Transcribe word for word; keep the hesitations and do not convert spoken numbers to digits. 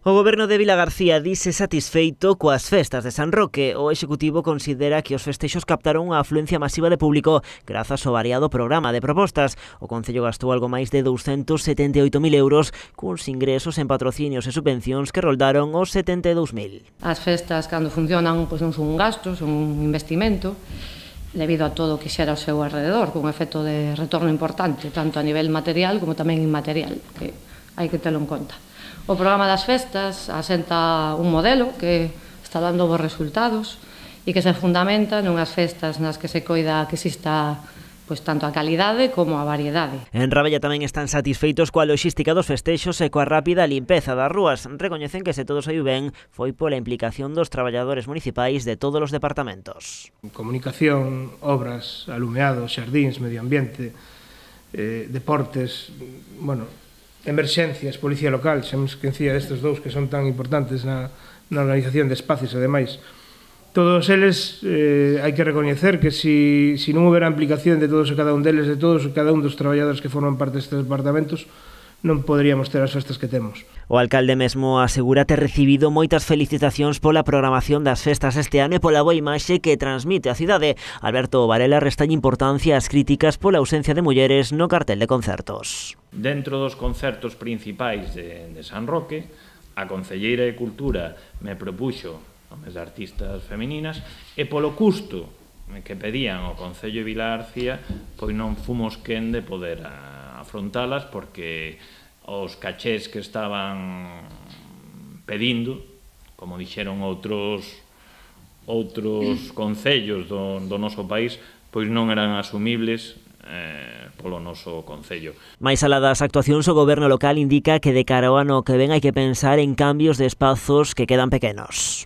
O Goberno de Vilagarcía dise satisfeito coas festas de San Roque. O Executivo considera que os festexos captaron unha afluencia masiva de público grazas ao variado programa de propostas. O Concello gastou algo máis de douscentos setenta e oito mil euros cuns ingresos en patrocinios e subvencións que roldaron os setenta e dous mil. As festas, cando funcionan, pois non son un gasto, son un investimento debido a todo o que xera ao seu alrededor, con un efecto de retorno importante, tanto a nivel material como tamén inmaterial, que hai que telo en conta. O programa das festas asenta un modelo que está dando bons resultados e que se fundamenta nunhas festas nas que se coida que exista pois tanto a calidade como a variedade. En Rabella tamén están satisfeitos coa logística dos festexos e coa rápida limpeza das rúas. Recoñecen que se todo saiu ben foi pola implicación dos traballadores municipais de todos os departamentos. Comunicación, obras, alumeados, xardíns, medio ambiente, eh, deportes, bueno, emerxencias, policía local, xa me esquecía destes dous que son tan importantes na, na organización de espacios e demais. Todos eles eh, hai que recoñecer que si, si non houbera implicación de todos e cada un deles, de todos e cada un dos traballadores que forman parte destes departamentos, non poderíamos ter as festas que temos. O alcalde mesmo asegura ter recibido moitas felicitacións pola programación das festas este ano e pola boa imaxe que transmite a cidade. Alberto Varela restalle importancia ás críticas pola ausencia de mulleres no cartel de concertos. Dentro dos concertos principais de, de San Roque, a Concelleira de Cultura me propuxo nomes de artistas femininas e polo custo que pedían o Concello de Vilagarcía, pois non fomos quen de poder afrontalas porque os cachés que estaban pedindo, como dixeron outros outros concellos do, do noso país, pois non eran asumibles eh, polo noso concello. Mais alá das actuacións, o goberno local indica que de cara ao ano que ven hai que pensar en cambios de espazos que quedan pequenos.